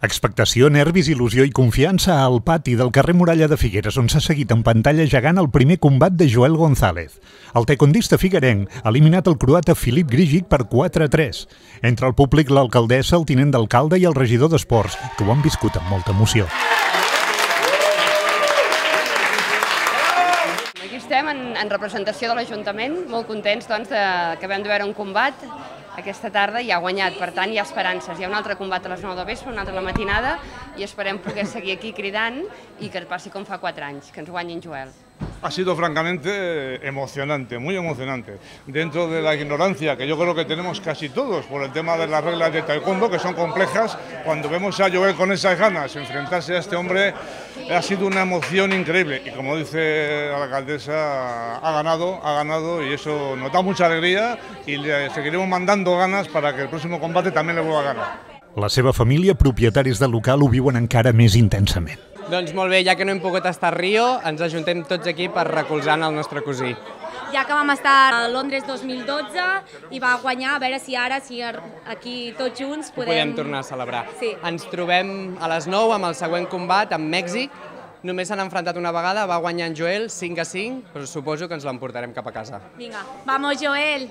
Expectació, nervis, il·lusió i confiança al pati del carrer Muralla de Figueres, on s'ha seguit en pantalla gegant el primer combat de Joel González. El taekwondista figuerenc ha eliminat el croata Filip Grgic per 4-3. Entre el públic, l'alcaldessa, el tinent d'alcalde i el regidor d'Esports, que ho han viscut amb molta emoció. Aquí estem en representació de l'Ajuntament, molt contents que acabem de veure un combat aquesta tarda i ha guanyat, per tant hi ha esperances. Hi ha un altre combat a les 9 del vespre, un altre a la matinada i esperem poder seguir aquí cridant i que passi com fa 4 anys, que ens guanyin Joel. Ha sido francamente emocionante, muy emocionante. Dentro de la ignorancia que yo creo que tenemos casi todos por el tema de las reglas de taekwondo, que son complejas, cuando vemos a Joel con esas ganas, enfrentarse a este hombre, ha sido una emoción increíble. Y como dice la alcaldesa, ha ganado y eso nos da mucha alegría y le seguiremos mandando ganas para que el próximo combate también le vuelva a ganar. La seva família, propietaris del local, ho viuen encara més intensament. Doncs molt bé, ja que no hem pogut estar a Rio, ens ajuntem tots aquí per recolzar el nostre cosí. Ja que vam estar a Londres 2012 i va guanyar, a veure si ara, aquí tots junts podem tornar a celebrar. Sí. Ens trobem a les 9 amb el següent combat amb Mèxic. Només s'han enfrontat una vegada, va guanyar en Joel 5-5, però suposo que ens l'emportarem cap a casa. Vinga, vamos Joel!